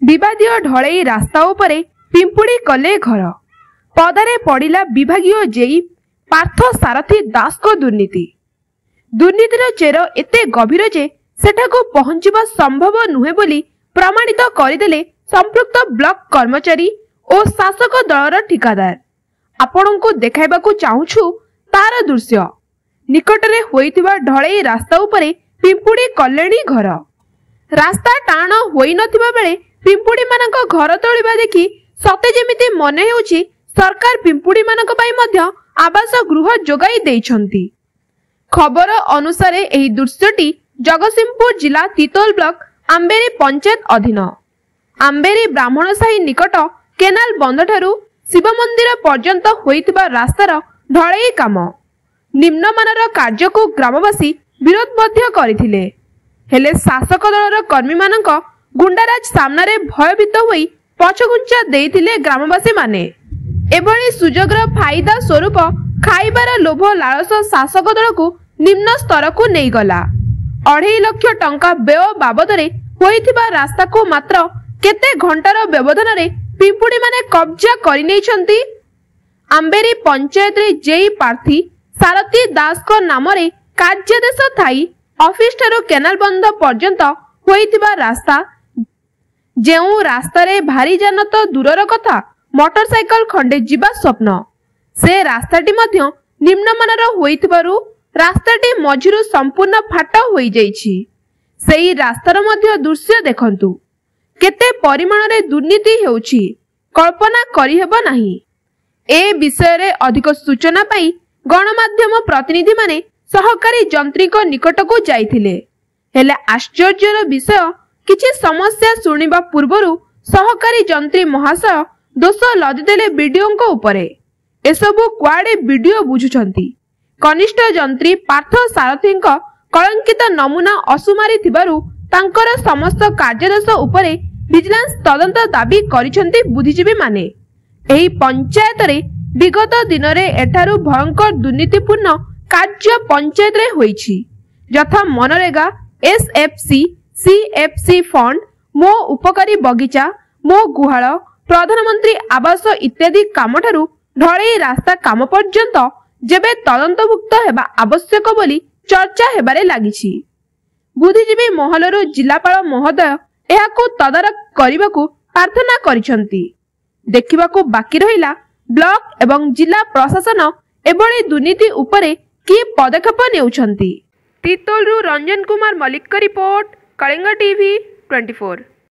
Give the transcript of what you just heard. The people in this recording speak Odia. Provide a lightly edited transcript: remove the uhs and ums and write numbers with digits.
ବିବାଦୀୟ ଢଳେଇ ରାସ୍ତା ଉପରେ ପିମ୍ପୁଡ଼ି କଲେ ଘର। ପଦାରେ ପଡ଼ିଲା ବିଭାଗୀୟ ଜେଇ ପାର୍ଥ ସାରଥୀ ଦାସଙ୍କ ଦୁର୍ନୀତି। ଦୁର୍ନୀତିର ଚେର ଏତେ ଗଭୀର ଯେ ସେଠାକୁ ପହଞ୍ଚିବା ସମ୍ଭବ ନୁହେଁ ବୋଲି ପ୍ରମାଣିତ କରିଦେଲେ ସମ୍ପୃକ୍ତ ବ୍ଲକ କର୍ମଚାରୀ ଓ ଶାସକ ଦଳର ଠିକାଦାର। ଆପଣଙ୍କୁ ଦେଖାଇବାକୁ ଚାହୁଁଛୁ ତାର ଦୃଶ୍ୟ। ନିକଟରେ ହୋଇଥିବା ଢଳେଇ ରାସ୍ତା ଉପରେ ପିମ୍ପୁଡ଼ି କଲେଣି ଘର। ରାସ୍ତା ଟାଣ ହୋଇନଥିବା ବେଳେ ପିମ୍ପୁଡ଼ିମାନଙ୍କ ଘର ତୋଳିବା ଦେଖି ସତେ ଯେମିତି ମନେ ହେଉଛି ସରକାର ପିମ୍ପୁଡ଼ିମାନଙ୍କ ପାଇଁ ମଧ୍ୟ ଆବାସ ଗୃହ ଯୋଗାଇ ଦେଇଛନ୍ତି। ଖବର ଅନୁସାରେ ଏହି ଦୃଶ୍ୟଟି ଜଗତସିଂହପୁର ଜିଲ୍ଲା ତିତୋଲ ବ୍ଲକ ଆମ୍ବେରୀ ପଞ୍ଚାୟତ ଅଧୀନ ଆମ୍ବେରୀ ବ୍ରାହ୍ମଣ ସାହି ନିକଟ କେନାଲ ବନ୍ଧଠାରୁ ଶିବ ମନ୍ଦିର ପର୍ଯ୍ୟନ୍ତ ହୋଇଥିବା ରାସ୍ତାର ଢଳେଇ କାମ। ନିମ୍ନମାନର କାର୍ଯ୍ୟକୁ ଗ୍ରାମବାସୀ ବିରୋଧ ମଧ୍ୟ କରିଥିଲେ। ହେଲେ ଶାସକ ଦଳର କର୍ମୀମାନଙ୍କ ଗୁଣ୍ଡାରାଜ ସାମ୍ନାରେ ଭୟଭୀତ ହୋଇ ପଛଘୁଞ୍ଚା ଦେଇଥିଲେ ଗ୍ରାମବାସୀମାନେ। ଏଭଳି ସୁଯୋଗର ଫାଇଦା ସ୍ୱରୂପ ଖାଇବାର ଲୋଭ ଲାଳସ ଶାସକ ଦଳକୁ ନିମ୍ନ ସ୍ତରକୁ ନେଇଗଲା। 2.5 ଲକ୍ଷ ଟଙ୍କା ବ୍ୟୟ ବାବଦରେ ହୋଇଥିବା ରାସ୍ତାକୁ ମାତ୍ର କେତେ ଘଣ୍ଟାର ବ୍ୟବଧାନରେ ପିମ୍ପୁଡ଼ିମାନେ କବ୍ଜା କରିନେଇଛନ୍ତି। ଆମ୍ବେରୀ ପଞ୍ଚାୟତରେ ଜେଇ ପ୍ରାର୍ଥୀ ସାରଥୀ ଦାସଙ୍କ ନାମରେ କାର୍ଯ୍ୟାଦେଶ ଥାଇ ଅଫିସଠାରୁ କେନାଲ ବନ୍ଧ ପର୍ଯ୍ୟନ୍ତ ହୋଇଥିବା ରାସ୍ତା, ଯେଉଁ ରାସ୍ତାରେ ଭାରୀ ଯାନ ତ ଦୂରର କଥା ମୋଟରସାଇକେଲ ଖଣ୍ଡେ ଯିବା ସ୍ୱପ୍ନ, ସେ ରାସ୍ତାଟି ମଧ୍ୟ ନିମ୍ନମାନର ହୋଇଥିବାରୁ ରାସ୍ତାଟି ମଝିରୁ ସମ୍ପୂର୍ଣ୍ଣ ଫାଟ ହୋଇଯାଇଛି। ସେଇ ରାସ୍ତାର ମଧ୍ୟ ଦୃଶ୍ୟ ଦେଖନ୍ତୁ। କେତେ ପରିମାଣରେ ଦୁର୍ନୀତି ହେଉଛି କଳ୍ପନା କରିହେବ ନାହିଁ। ଏ ବିଷୟରେ ଅଧିକ ସୂଚନା ପାଇଁ ଗଣମାଧ୍ୟମ ପ୍ରତିନିଧିମାନେ ସହକାରୀ ଯନ୍ତ୍ରୀଙ୍କ ନିକଟକୁ ଯାଇଥିଲେ। ହେଲେ ଆଶ୍ଚର୍ଯ୍ୟର ବିଷୟ, କିଛି ସମସ୍ୟା ଶୁଣିବା ପୂର୍ବରୁ ସହକାରୀ ଯନ୍ତ୍ରୀ ମହାଶୟ ଦୋଷ ଲଦିଦେଲେ ବିଡିଓଙ୍କ ଉପରେ। ଏସବୁ କୁଆଡେ ବିଡିଓ ବୁଝୁଛନ୍ତି। କନିଷ୍ଠ ଯନ୍ତ୍ରୀ ପାର୍ଥ ସାରଥୀଙ୍କ କଳଙ୍କିତ ନମୁନା ଅସୁମାରି ଥିବାରୁ ତାଙ୍କର ସମସ୍ତ କାର୍ଯ୍ୟଦୋଷ ଉପରେ ଭିଜିଲାନ୍ସ ତଦନ୍ତ ଦାବି କରିଛନ୍ତି ବୁଦ୍ଧିଜୀବୀମାନେ। ଏହି ପଞ୍ଚାୟତରେ ବିଗତ ଦିନରେ ଏଠାରୁ ଭୟଙ୍କର ଦୁର୍ନୀତିପୂର୍ଣ୍ଣ କାର୍ଯ୍ୟ ପଞ୍ଚାୟତରେ ହୋଇଛି, ଯଥା ମନରେଗା, ଏସ୍ଏଫ୍ସି, ସିଏଫ୍ସି ଫଣ୍ଡ, ମୋ ଉପକାରୀ ବଗିଚା, ମୋ ଗୁହାଳ, ପ୍ରଧାନମନ୍ତ୍ରୀ ଆବାସ ଇତ୍ୟାଦି କାମଠାରୁ ଢଳେଇ ରାସ୍ତା କାମ ପର୍ଯ୍ୟନ୍ତ ଯେବେ ତଦନ୍ତଭୁକ୍ତ ହେବା ଆବଶ୍ୟକ ବୋଲି ଚର୍ଚ୍ଚା ହେବାରେ ଲାଗିଛି। ବୁଦ୍ଧିଜୀବୀ ମହଲରୁ ଜିଲ୍ଲାପାଳ ମହୋଦୟ ଏହାକୁ ତଦାରଖ କରିବାକୁ ପ୍ରାର୍ଥନା କରିଛନ୍ତି। ଦେଖିବାକୁ ବାକି ରହିଲା ବ୍ଲକ ଏବଂ ଜିଲ୍ଲା ପ୍ରଶାସନ ଏଭଳି ଦୁର୍ନୀତି ଉପରେ କି ପଦକ୍ଷେପ ନେଉଛନ୍ତି। ତିତୋଲରୁ ରଞ୍ଜନ କୁମାର ମଲ୍ଲିକଙ୍କ ରିପୋର୍ଟ, କଳିଙ୍ଗ ଟିଭି 24।